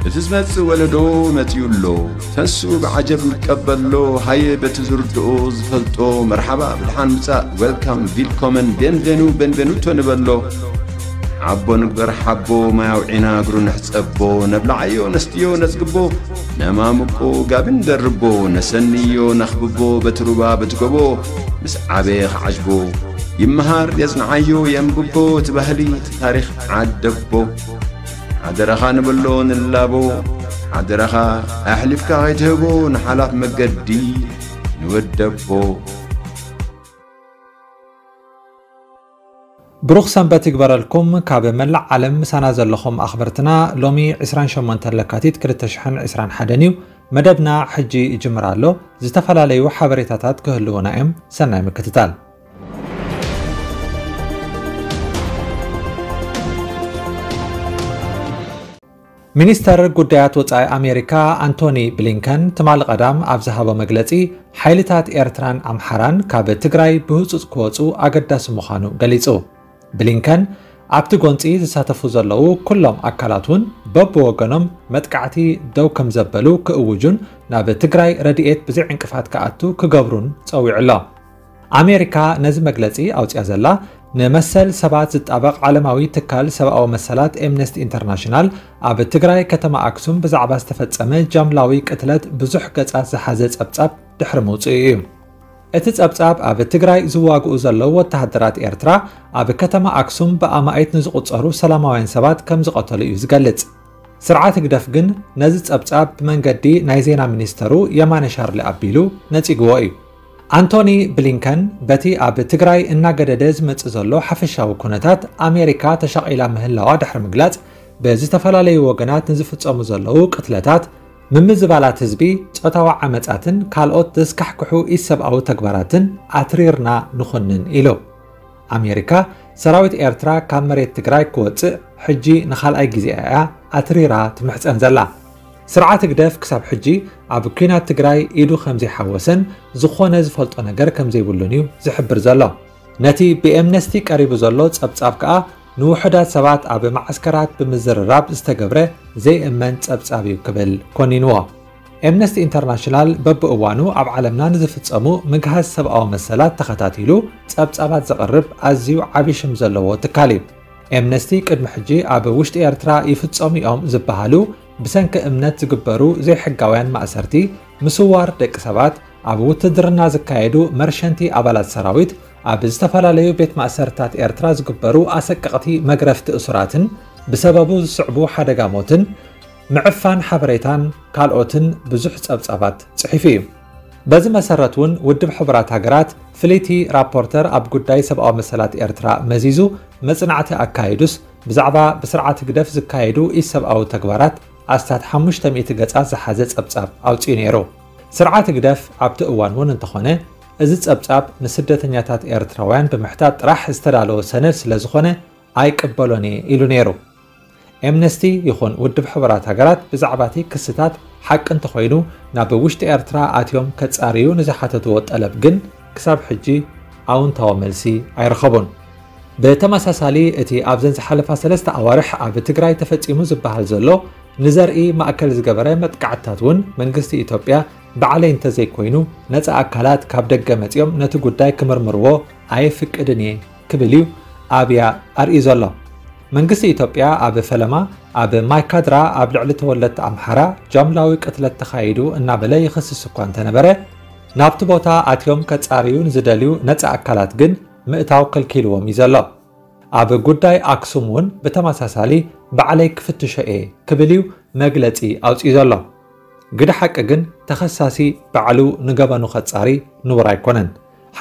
እቲ ዝመጽእ ወለዶ መጺኡ ኣሎ። ተንስኡ ብዓጀብ ንቀበሎ። ሃየ በቲ ዝርድኦ ዝፈልጦ መርሓባ ብድሓን ምጻእ፣ ዌልካም፣ ቪልኮመን፣ ቤንቬኑ፣ ቤንቬኑቶ ንበሎ። ሓቦ ንግበር ሓቦ፣ ማይ ኣውዒና እግሩ ንሕጸቦ። ነብልዓዮ ነስትዮ ነጽግቦ፣ ነማምቆ ጋቢ ንደርቦ። ነሰንዮ ነኽብቦ በቲ ሩባ በቲ ጎቦ። ምስ ዓበየ ክዓጅቦ ይመሃር የጽንዓዮ የንብቦ። እቲ ባህሊ እቲ ታሪኽ ዓደቦ። ሓደራኻ ንበሎ ንላቦ። ሓደራኻ ኣሕሊፍካ ከይትህቦ ንሓላፍ መገዲ ንወደቦ። ብሩኽ ሰንበት ይግበረልኩም። ካብ መላእ ዓለም ምሳና ዘለኹም ኣኽበርትና፣ ሎሚ ዕስራን ሸሞንተን ለካቲት ክልተ ሽሕን ዕስራን ሓደን እዩ። መደብና ሕጂ ይጅምር ኣሎ። ዝተፈላለዩ ሓበሬታታት ክህልዉና እዮም። ሰናይ ምክትታል። ሚኒስተር ጉዳያት ወጻኢ ኣሜሪካ ኣንቶኒ ብሊንከን ትማሊ ቀዳም ኣብ ዝሃቦ መግለጺ፣ ሓይልታት ኤርትራን ኣምሓራን ካብ ትግራይ ብህጹጽ ክወጹ ኣገዳሲ ምዃኑ ገሊጹ። ብሊንከን፣ ኣብቲ ጎንጺ ዝሳተፉ ዘለዉ ኩሎም ኣካላት እውን በብወገኖም መጥቃዕቲ ደው ከም ዘበሉ ክእውጁን ናብ ትግራይ ረድኤት ብዘይ ዕንቅፋት ክኣቱ ክገብሩን ጸዊዑ ኣሎ። ኣሜሪካ ነዚ መግለጺ ኣውጽያ ዘላ፣ ንመሰል ሰባት ዝጣበቕ ዓለማዊ ትካል ሰብኣዊ መሰላት ኤምነስቲ ኢንተርናሽናል ኣብ ትግራይ ከተማ ኣክሱም ብዛዕባ ዝተፈጸመ ጃምላዊ ቅትለት ብዙሕ ገጻት ዝሓዘ ጸብጻብ ድሕሪ ምውጽኡ እዩ። እቲ ጸብጻብ ኣብ ትግራይ ዝዋግኡ ዘለዉ ወተሃደራት ኤርትራ ኣብ ከተማ ኣክሱም ብኣማኢት ንዝቑጸሩ ሰላማውያን ሰባት ከም ዝቐተሉ እዩ ዝገልጽ። ስርዓት ህግደፍ ግን ነዚ ጸብጻብ ብመንገዲ ናይ ዜና ሚኒስተሩ የማነ ሻርሊ ኣቢሉ ነጺግዎ እዩ። ኣንቶኒ ብሊንከን በቲ ኣብ ትግራይ እናገደደ ዝመጽእ ዘሎ ሓፈሻዊ ኩነታት ኣሜሪካ ተሻቒላ ምህላዋ ድሕሪ ምግላጽ፣ ብዝተፈላለዩ ወገናት ንዝፍጸሙ ዘለዉ ቅትለታት፣ ምምዝባላት ህዝቢ፣ ጾታዊ ዓመጻትን ካልኦት ዘስካሕክሑ ኢሰብኣዊ ተግባራትን ኣትሪርና ንኹንን ኢሉ። ኣሜሪካ ሰራዊት ኤርትራ ካብ መሬት ትግራይ ክወጽእ ሕጂ ንኻልኣይ ግዜኣ እያ ኣትሪራ ትምሕጸን ዘላ። ስርዓት ህግደፍ ክሳብ ሕጂ ኣብ ኲናት ትግራይ ኢዱ ከም ዘይሓወሰን ዝኾነ ዝፈልጦ ነገር ከም ዘይብሉን እዩ ዝሕብር ዘሎ። ነቲ ብኤምነስቲ ቀሪቡ ዘሎ ጸብጻብ ከኣ ንውሑዳት ሰባት ኣብ መዓስከራት ብምዝርራብ ዝተገብረ ዘይእመን ጸብጻብ እዩ ክብል ኮኒንዎ። ኤምነስቲ ኢንተርናሽናል በብእዋኑ ኣብ ዓለምና ንዝፍጸሙ ምግሃስ ሰብኣዊ መሰላት ተኸታቲሉ ጸብጻባት ዘቕርብ ኣዝዩ ዓቢ ሽም ዘለዎ ትካል እዩ። ኤምነስቲ ቅድሚ ሕጂ ኣብ ውሽጢ ኤርትራ ይፍጸሙ እዮም ዝበሃሉ ብሰንኪ እምነት ዝግበሩ ዘይሕጋውያን ማእሰርቲ፣ ምስዋር ደቂ ሰባት፣ ኣብ ውትድርና ዝካየዱ መርሸንቲ ኣባላት ሰራዊት፣ ኣብ ዝተፈላለዩ ቤት ማእሰርታት ኤርትራ ዝግበሩ ኣሰቀቕቲ መግረፍቲ እሱራትን ብሰበቡ ዝስዕቡ ሓደጋ ሞትን ምዕፋን ሓበሬታን ካልኦትን ብዙሕ ጸብጻባት ጽሒፉ እዩ። በዚ መሰረት እውን ውድብ ሕቡራት ሃገራት ፍልይቲ ራፖርተር ኣብ ጉዳይ ሰብኣዊ መሰላት ኤርትራ መዚዙ መጽናዕቲ ኣካይዱስ ብዛዕባ ብስርዓት ህግደፍ ዝካየዱ ኢሰብኣዊ ተግባራት ኣስታት ሓሙሽተ ሚእቲ ገጻት ዝሓዘ ጸብጻብ ኣውጺኡ ነይሩ። ስርዓት ህግደፍ ኣብቲ እዋን እውን እንተኾነ እዚ ጸብጻብ ንስደተኛታት ኤርትራውያን ብምሕታት ጥራሕ ዝተዳለወ ሰነድ ስለ ዝኾነ ኣይቅበሎን እየ ኢሉ ነይሩ። ኤምነስቲ ይኹን ውድብ ሕቡራት ሃገራት ብዛዕባ እቲ ክስታት ሓቂ እንተኾይኑ ናብ ውሽጢ ኤርትራ ኣትዮም ከጻርዩ ንዝሓተትዎ ጠለብ ግን ክሳብ ሕጂ ኣውንታዊ መልሲ ኣይረኸቡን። ብተመሳሳሊ እቲ ኣብዘን ዝሓለፋ ሰለስተ ኣዋርሕ ኣብ ትግራይ ተፈጺሙ ዝበሃል ዘሎ ንዘርኢ ማእከል ዝገበረ መጥቃዕትታት እውን መንግስቲ ኢትዮጵያ ባዕለይ እንተዘይኮይኑ ነጻ ኣካላት ካብ ደገ መጺኦም ነቲ ጉዳይ ክምርምርዎ ኣይፍቅድን እየ ክብል እዩ ኣብያ ኣርእዩ ዘሎ። መንግስቲ ኢትዮጵያ ኣብ ፈለማ ኣብ ማይካድራ ኣብ ልዕሊ ተወለድቲ ኣምሓራ ጃምላዊ ቅትለት ተኻይዱ እናበለ ይኽስስ እኳ እንተነበረ፣ ናብቲ ቦታ ኣትዮም ከጻርዩ ንዝደልዩ ነጻ ኣካላት ግን ምእታው ከልኪልዎም እዩ ዘሎ። ኣብ ጉዳይ ኣክሱም እውን ብተመሳሳሊ ባዕለይ ክፍትሾ እየ ክብል እዩ መግለጺ ኣውጺኡ ዘሎ። ግደ ሓቂ ግን ተኸሳሲ ባዕሉ ንገበኑ ከጻሪ ንቡር ኣይኮነን።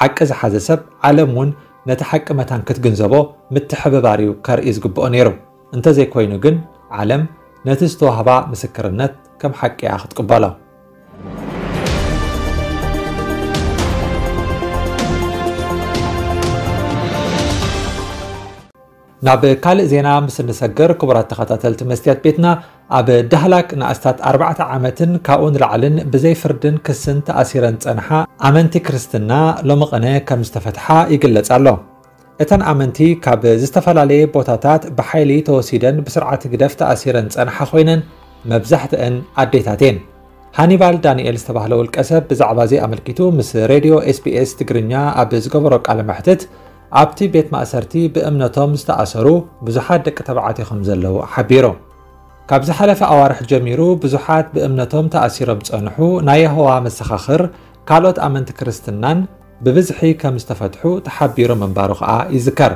ሓቂ ዝሓዘ ሰብ ዓለም እውን ነቲ ሓቂ መታን ክትግንዘቦ ምትሕብባር እዩ ከርኢ ዝግብኦ ነይሩ። እንተዘይኮይኑ ግን ዓለም ነቲ ዝተዋህባ ምስክርነት ከም ሓቂ እያ ክትቅበሎ። ናብ ካልእ ዜና ምስ እንሰግር፣ ክቡራት ተኸታተልቲ መስትያት ቤትና፣ ኣብ ዳህላክ ንኣስታት ኣርባዕተ ዓመትን ካብኡ ንላዕልን ብዘይ ፍርድን ክስን ተኣሲረን ዝጸንሓ ኣመንቲ ክርስትና ሎሚ ቅነ ከም ዝተፈትሓ ይግለጽ ኣሎ። እተን ኣመንቲ ካብ ዝተፈላለየ ቦታታት ብሓይሊ ተወሲደን ብስርዓት ህግደፍ ተኣሲረን ዝጸንሓ ኮይነን፣ መብዛሕትአን ኣዴታት እየን። ሃኒባል ዳንኤል ዝተባህለ ውልቀ ሰብ ብዛዕባ እዚ ኣመልኪቱ ምስ ሬድዮ ኤስቢኤስ ትግርኛ ኣብ ዝገበሮ ቃለ መሕትት፣ ኣብቲ ቤት ማእሰርቲ ብእምነቶም ዝተኣሰሩ ብዙሓት ደቂ ተባዕትዮ ከም ዘለዉ ሓቢሩ። ካብ ዝሓለፈ ኣዋርሕ ጀሚሩ ብዙሓት ብእምነቶም ተኣሲሮም ዝጸንሑ ናይ የሆዋ መሰኻኽር፣ ካልኦት ኣመንቲ ክርስትናን ብብዝሒ ከም ዝተፈትሑ ተሓቢሩ ምንባሩ ከኣ ይዝከር።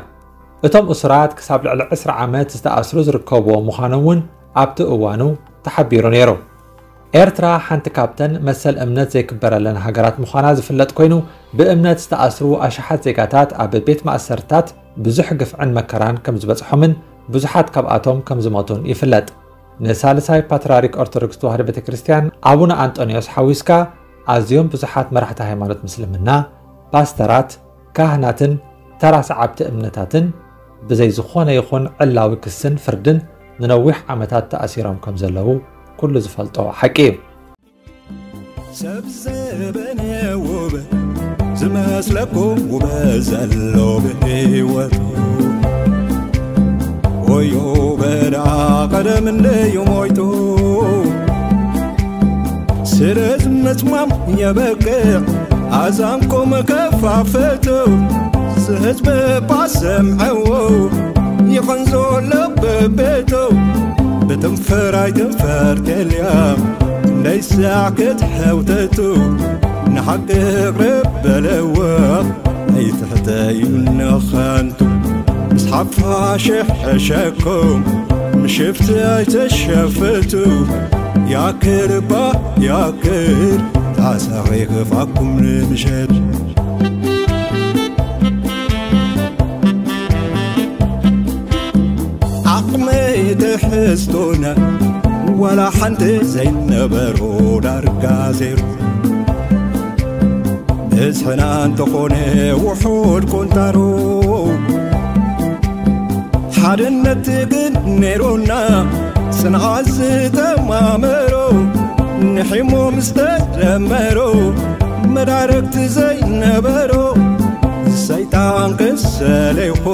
እቶም እሱራት ክሳብ ልዕሊ ዕስራ ዓመት ዝተኣስሩ ዝርከብዎም ምዃኖም እውን ኣብቲ እዋኑ ተሓቢሩ ነይሩ። ኤርትራ ሓንቲ ካብተን መሰል እምነት ዘይክበረለን ሃገራት ምዃና ዝፍለጥ ኮይኑ፣ ብእምነት ዝተኣስሩ ኣሽሓት ዜጋታት ኣብ ቤት ማእሰርታት ብዙሕ ግፍዕን መከራን ከም ዝበጽሖምን ብዙሓት ካብኣቶም ከም ዝሞቱን ይፍለጥ። ንሳልሳይ ፓትርያርክ ኦርቶዶክስ ተዋህዶ ቤተ ክርስቲያን ኣቡነ ኣንጦንዮስ ሓዊስካ ኣዝዮም ብዙሓት መራሕቲ ሃይማኖት ምስልምና፣ ፓስተራት፣ ካህናትን ተራ ሰዓብቲ እምነታትን ብዘይ ዝኾነ ይኹን ዕላዊ ክስን ፍርድን ንነዊሕ ዓመታት ተኣሲሮም ከም ዘለዉ ኩሉ ዝፈልጦ ሓቂ እዩ። ሰብ ዘበነ ውብ ዝመስለኩም ውበት ዘሎ ብህይወቱ ወዮ በዳ ቀደም እንደዩ ሞይቱ ስለዚ ምጽማም የበቅዕ ኣዛንኩም ከፋፈቱ ዝህዝቢ ባሰምዐዎ ይቐንዞ ለበቤቱ ብትንፈር ኣይትንፈር ከልያ እንዳይሳዕ ክትሐውተቱ ንሓቂ ቅርብ በለዎ ኣይትሕተዩ ንኸንቱ ምስ ሓፋሽ ሕሸኩም ምሽፍቲ ኣይተሸፍቱ ያክል እባ ያክል ጣሳኺ ክፋኩም ንምሸት ዓቕመይ ትሕዝቶና ዋላ ሓንቲ ዘይነበሮ ዳርጋ ዜሩ ብዝሕና እንተኾነ ውሑድ ቆንጣሮ ሓድነት ግን ነይሮና ጽንዓት ዝተማመሮ ንሒሞ ምስ ተደመሮ መዳረግቲ ዘይነበሮ ሰይጣን ክሰሌኹ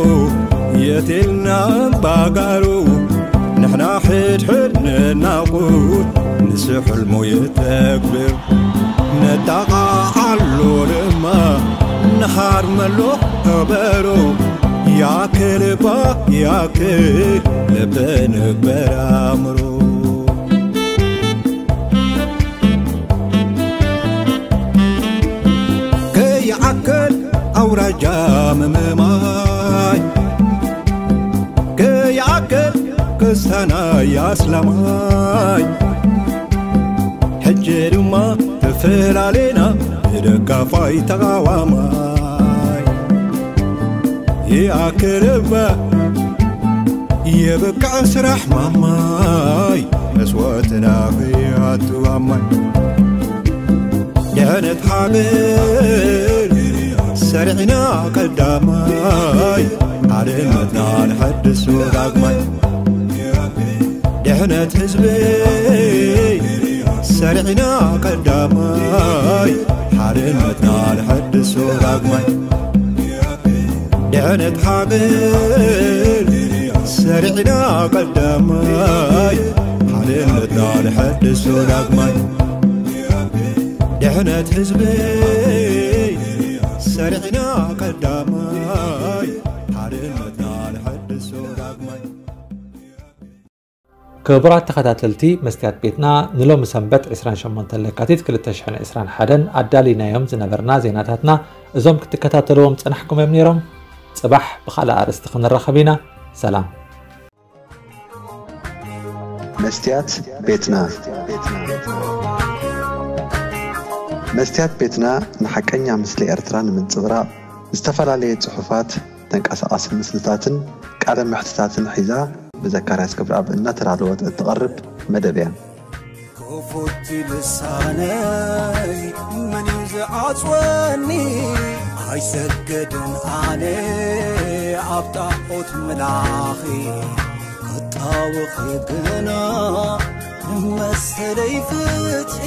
የቴልና ባጋሩ ንሕና ሕድሕድ ንናቑር ንሱ ሕልሙ የተግብር ነጣቓዓሎ ድማ ንሃርመሎ ከበሮ ያክል እባ ያክል ልቢ ንግበር ኣእምሮ ከይዓከል ኣውራጃ ምምማይ ከይዓከል ክስታናይ ኣስላማይ ሕጂ ድማ ተፈላለና ብደጋፋይ ተቓዋማይ ይኣክል እባ የብቅዕ ስራሕ ማማይ መስዋእትና ከይኣቱ ኣማይ ድሕነት ሓገር ሰሪዕና ቀዳማይ ሓድነትና ንሐድሶ ዳግማይ ድሕነት ህዝቢ ሰሪዕና ቀዳማይ ሓድነትና ንሐድሶ ዳግማይ ድሕነት ሓገር ሰሪዕና ቀዳማይ ሓድነትና ንሐድሶ ዳግማይ ድሕነት ህዝቢ ሰሪዕና ቀዳማይ ሓድነትና ንሐድሶ ዳግማይ ክቡራት ተኸታተልቲ መስትያት ቤትና ንሎሚ ሰንበት ዕስራን ሸሞንተን ለካቲት ክልተ ሽሕን ዕስራን ሓደን ኣዳሊናዮም ዝነበርና ዜናታትና እዞም ክትከታተልዎም ዝጸናሕኩም እዮም ነይሮም። ጽባሕ ብኻልእ ኣርእስቲ ክንራኸብ ኢና። ሰላም። መስትያት ቤትና መስትያት ቤትና ንሓቀኛ ምስሊ ኤርትራ ንምንጽብራቕ ዝተፈላለየ ጽሑፋት፣ ተንቀሳቓሲ ምስልታትን ቃለ መሕትታትን ሒዛ ብዘካርያስ ገብረኣብ እናተዳለወት እትቐርብ መደብ እያ። ክፉት ልሳነይ መን እዩ ዝዓጽወኒ? ኣይሰገድን ኣነ ኣብ ጣዖት ምላኺ ክጣወኺ ግና ንመሰለይ ፍትሒ